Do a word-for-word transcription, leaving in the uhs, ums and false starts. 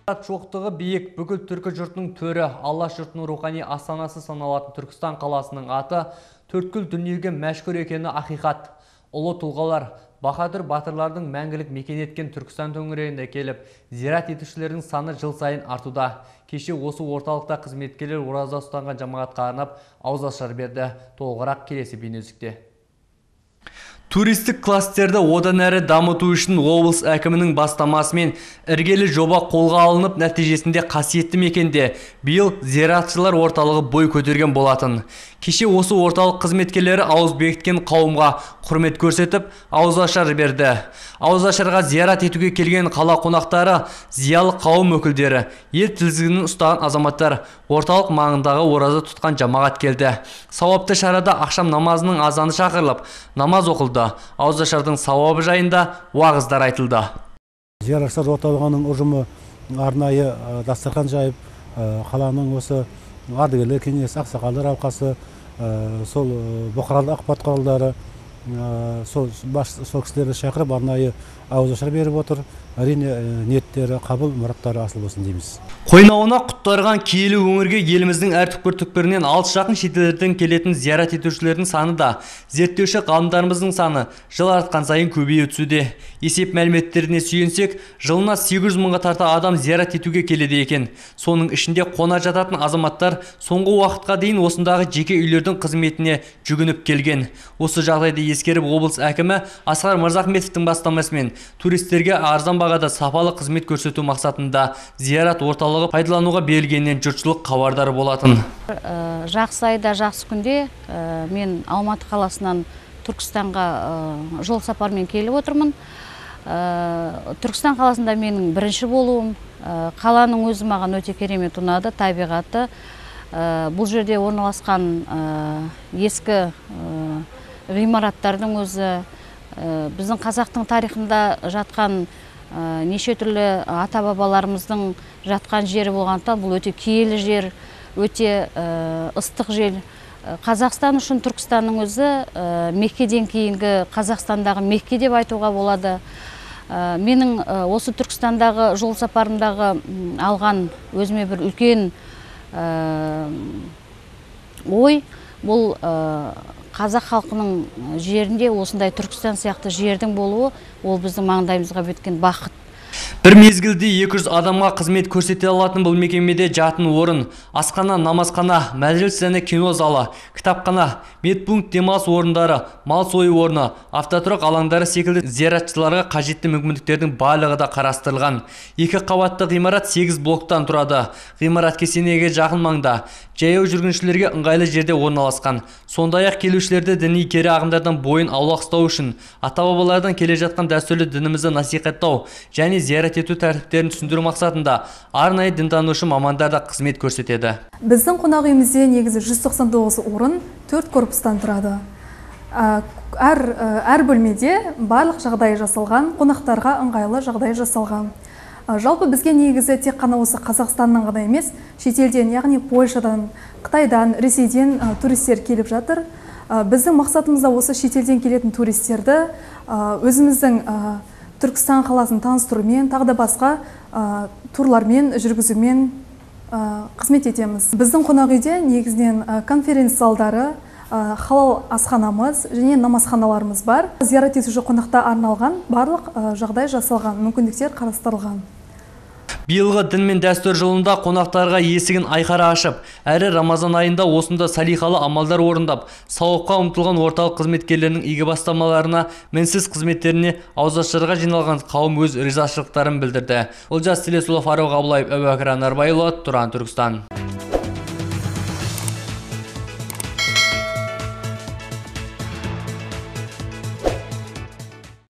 Шоқтығы биік бүкіл түркі жұртының төрі, Алла жұртының рухани астанасы саналатын Түркістан қаласының аты төрткүл дүниеге мәшһүр екені ақиқат. Ұлы тұлғалар, баһадүр батырлардың мәңгілік мекен еткен Түркістан төңірегіне келіп, зиярат етушілердің саны жыл сайын артуда. Кеше осы орталықта қызметкерлер ораза ұстанған жамағатқа арнап ауызашар берді. Толығырақ келесі бейнеүздікте. Туристік кластерді одан әрі дамыту үшін облыс әкімінің бастамасымен іргелі жоба қолға алынып, нәтижесінде қасиетті мекенде биыл зиратшылар орталығы бой көтерген болатын. Кеше осы орталық қызметкерлері ауыз бекіткен қауымға құрмет көрсетіп, ауызашар берді. Ауызашарға зиярат етуге келген қала қонақтары, зиялы қауым өкілдері, ел тізгінін ұстаған азаматтар, орталық маңындағы ораза тұтқан жамағат келді. Сауапты шарада ақшам намазының азаны шақырылып, намаз оқылды. Ауызашардың сауабы жайында уағыздар айтылды. Зияратшылар орталығының ұжымы арнайы дастархан жайып, қаланың осы ардагерлер кеңесі, ақсақалдар алқасы, сол бұқаралық ақпарат құралдары, сол кісілерді шақырып арнайы ауызашар беріп отыр. Әрине ниеттері, қабыл мұраттары асыл болсын дейміз. Қойнауына құттарған киелі өңірге еліміздің әр түкпір-түкпірінен алыс жақын шетелдерден келетін зиярат етушілердің саны да, зерттеуші ғалымдарымыздың саны жыл артқан сайын көбейе түсуде. Есеп мәліметтеріне сүйенсек, жылына сегіз жүз мыңға тарта адам зиярат етуге келеді екен. Соның ішінде қона жататын азаматтар соңғы уақытқа дейін осындағы жеке үйлердің қызметіне жүгініп келген. Осы жағдайды ескеріп, облыс әкімі Асқар Мырзахметовтің бастамасымен туристерге арзан бағада сапалы қызмет көрсету мақсатында зиярат орталығы пайдалануға берілгеннен жұртшылық хабардар болатын. Жақсы айда, жақсы күнде мен Алматы қаласынан Түркістанға жол сапармен келіп отырмын. Түркістан қаласында менің бірінші болуым, қаланың өзі маған өте керемет ұнады, табиғаты. Бұл жерде орналасқан ескі ғимараттардың өзі, біздің қазақтың тарихында жатқан неше түрлі ата-бабаларымыздың жатқан жері болғандықтан бұл өте киелі жер, өте ыстық жер. Қазақстан үшін Түркістанның өзі Меккеден кейінгі Қазақстандағы Мекке деп айтуға болады. Менің осы Түркістандағы жол сапарымдағы алған өзіме бір үлкен ой, бұл қазақ халқының жерінде осындай Түркістан сияқты жердің болуы, ол біздің маңдайымызға біткен бақыт. Бір мезгілде екі жүз адамға қызмет көрсете алатын бұл мекемеде жатын орын, асхана, намазхана, мәжіліс және кино залы, кітапхана, медпункт, демалыс орындары, мал сою орны, автотұрақ алаңдары секілді зияратшыларға қажетті мүмкіндіктердің барлығы да қарастырылған. Екі қабатты ғимарат сегіз блоктан тұрады. Ғимарат кесенеге жақын маңда, жаяу жүргіншілерге ыңғайлы жерде орналасқан. Сондай-ақ келушілерді діни кері ағымдардан бойын аулақ ұстау үшін, ата-бабалардан келе жатқан дәстүрлі дінімізді насихаттау және зиярат ету тәртіптерін түсіндіру мақсатында арнайы дінтанушы мамандар да қызмет көрсетеді. Біздің қонақ үйімізде негізі жүз тоқсан тоғыз орын төрт корпустан тұрады. Әр, әр бөлмеде барлық жағдай жасалған, қонақтарға ыңғайлы жағдай жасалған. Жалпы бізге негізі тек қана осы Қазақстаннан ғана емес, шетелден, яғни Польшадан, Қытайдан, Ресейден туристер келіп жатыр. Біздің мақсатымызда осы шетелден келетін туристерді өзіміздің Түркістан қаласын таныстырумен, тағы да басқа турлармен жүргізумен қызмет етеміз. Біздің қонақ үйде негізінен конференц залдары, халал асханамыз және намазханаларымыз бар. Зиярат етуші қонақта арналған барлық жағдай жасалған, мүмкіндіктер қарастырылған. Биылғы дін мен дәстүр жылында қонақтарға есігін айқара ашып, әрі Рамазан айында осында салихалы амалдар орындап, сауапқа ұмтылған орталық қызметкерлерінің игі бастамаларына, мінсіз қызметтеріне ауызашарға жиналған қауым өз ризашылықтарын білдірді. Олжас Телесұлы, Фаруқ Абылаев, Әбубәкір Анарбайұлы, Тұран, Түркістан.